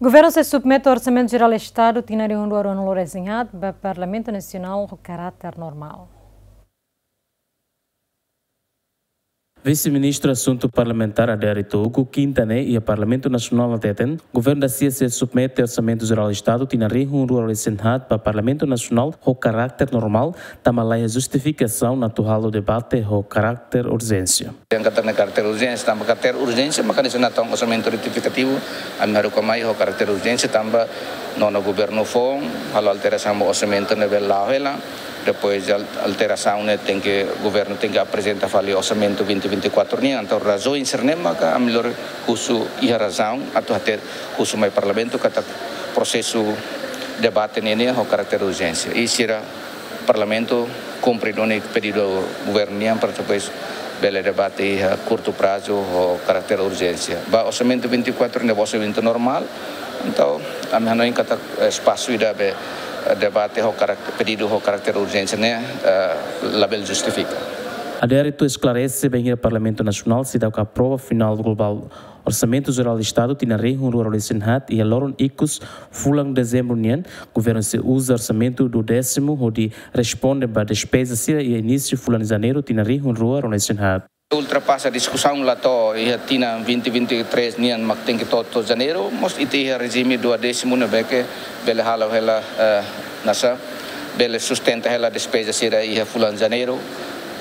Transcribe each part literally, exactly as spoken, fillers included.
Governu sei submete Orsamentu Jerál Estadu tinan rihun rua ruanulu-resin-haat ba Parlamentu Nasionál ho karáter normál. Vise-Ministru Asuntu Parlamentár Adérito Hugo, kinta ne'e, iha Parlamentu Nasionál hateten, Governu da-sia sei submete Orsamentu Jerál Estadu tinan rihun rua ruanulu-resin-haat ba Parlamentu Nasionál ho karáter normál, tanba laiha justifikasaun atu halo debate ho karáter urjénsia. Yang kata na karáter urjénsia, tanba karáter urjénsia, maka hanesan natoon orsamentu retifikativu, ami haruka mai ho karáter urjénsia, tanba nonu governu foun, halo alterasaun ba orsamentu ne'ebé la'o hela, depois al-, alterasaun ne'e tenke, governu tenke aprezenta fali orsamentu vinte vinte e quatro nian, entaun razaun sira-ne'e maka ami lori husu iha razaun, atu hatete husu mai Parlamentu, katak prosesu debate ne'e nian ho karáter urjénsia. I sira Parlamentu kumpre duni pedidu governu nian para depois bele debate iha kurtu prazu ho karáter urjénsia. Ba orsamentu vinte e quatro ne'e ba orsamentu normál, entaun ami hanoin katak espasu ida be, eh, debate ho karáter, pedidu ho karáter urjénsia ne'e, eh, labele justifika. Adérito esklarese bainhira Parlamentu Nasionál seidauk aprova final globál Orsamentu Jerál Estadu tinan rihun rua ruanulu-resin-haat iha loron ikus fulan Dezembru nian, governu sei uza orsamentu duodésimu hodi responde ba despeza sira iha inísiu fulan Janeiru tinan rihun rua ruanulu-resin-haat. Ultrapasa diskusaun la to'o iha tinan vinte vinte e três nian mak tenke to'o to'o Janeiru, mós ita iha rejime duodésimu ne'ebé ke bele halo hela, eh, nasa, bele sustenta hela despeza sira iha fulan Janeiru,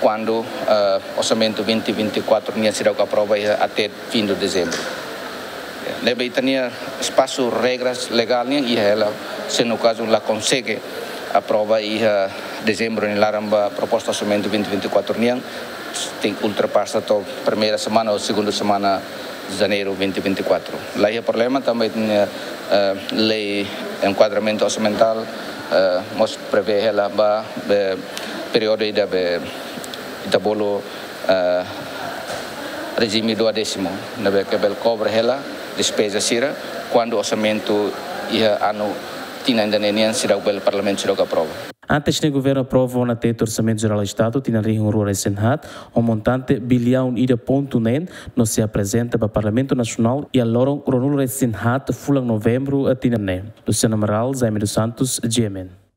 kuandu, eh, orsamentu vinte vinte e quatro nian seidauk aprova iha até fim de Dezembru. Ne'ebé ita-nia espasu regras legál nian iha hela, se no kazu la konsege aprova iha Dezembru nia laran ba proposta orsamentu vinte vinte e quatro nian, tenke ultrapasa to'o primeira semana ou segunda semana Janeiru vinte vinte e quatro. Laiha problema tanba ita-nia, eh, lei enkuadramentu orsamentál, eh, mós prevee hela ba, be, períodu ida be ita bolu, eh, rejime duodésimu, ne'ebé ke bele kobre hela despeza sira, kuandu orsamentu iha anu tinan ida-ne'e nian seidauk bele Parlamentu seidauk aprova. Antes ne'e governu aprova ona tetu Orsamentu Jerál Estadu tinan rihun rua ruanulu-resin-haat, ho montante biliaun ida pontu neen, no sei aprezenta ba Parlamentu Nasionál iha loron ruanulu-resin-haat fulan Novembru tinan ne'e. Luciano Amaral, Jaime dos Santos, G M N.